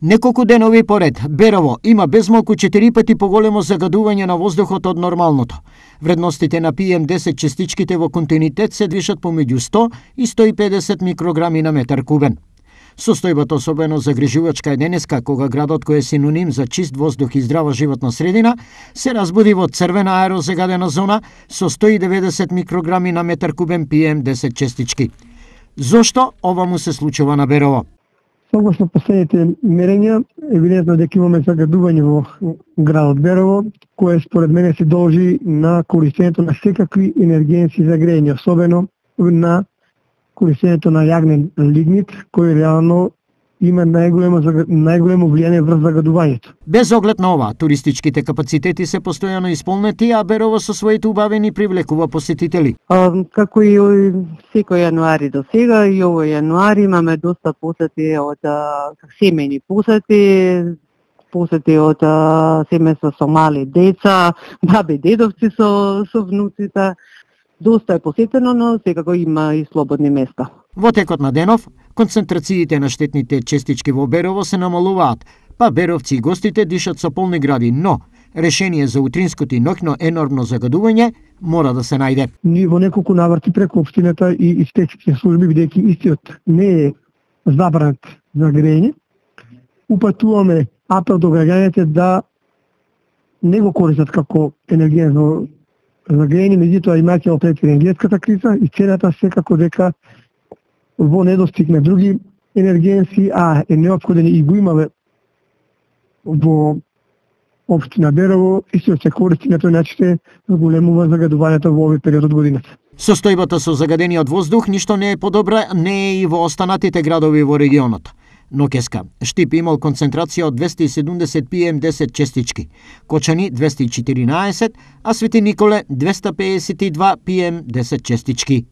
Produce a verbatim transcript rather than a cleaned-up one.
Неколку денови поред, Берово има безмалку четири пати поголемо загадување на воздухот од нормалното. Вредностите на пи ем десет честичките во континуитет се движат помеѓу сто и сто и педесет микрограми на метар кубен. Состојбата особено загрижувачка е денеска, кога градот кој е синоним за чист воздух и здрава животна средина, се разбуди во црвена аерозагадена зона со сто и деветдесет микрограми на метар кубен пи ем десет честички. Зошто ова му се случува на Берово? Согласно последните мерења, евидентно дека имаме загадување во градот Берово, кое според мене се должи на користењето на секакви енергенци за грејење, особено на користењето на јагнен лигнит, кој реално има најголемо најголемо влијание врз загадувањето. Без оглед на ова, туристичките капацитети се постојано исполнети, а Берово со своите убавени привлекува посетители. А, како и секој јануари до сега, и овој јануари имаме доста посети од семејни посети, посети од семејства со мали деца, баби дедовци со со внуците. Доста е посетено, но секако има и слободни места. Во текот на денов, концентрациите на штетните честички во Берово се намалуваат, па беровци и гостите дишат со полни гради, но решение за утринското и ноќно енормно загадување мора да се најде. Ние во неколку наврати преку општината и инспекцијските служби, бидејќи истиот не е забранет за грејење, упатуваме апел до граѓаните да не го користат како енергијно за грејење, меѓутоа имајќи пред енергетската криза и целата секако дека во недостиг на други енергенси, а е неопходен и го имаме во општина Берово, истиот се користи на тој начин се зголемува загадувањето во овој период од годината. Состојбата со загадениот воздух ништо не е подобра, не е и во останатите градови во регионот. Ноќеска, Штип имал концентрација од двесте и седумдесет пи ем десет честички, Кочани двесте и четиринаесет, а Свети Николе двесте пеесет и два пи ем десет честички.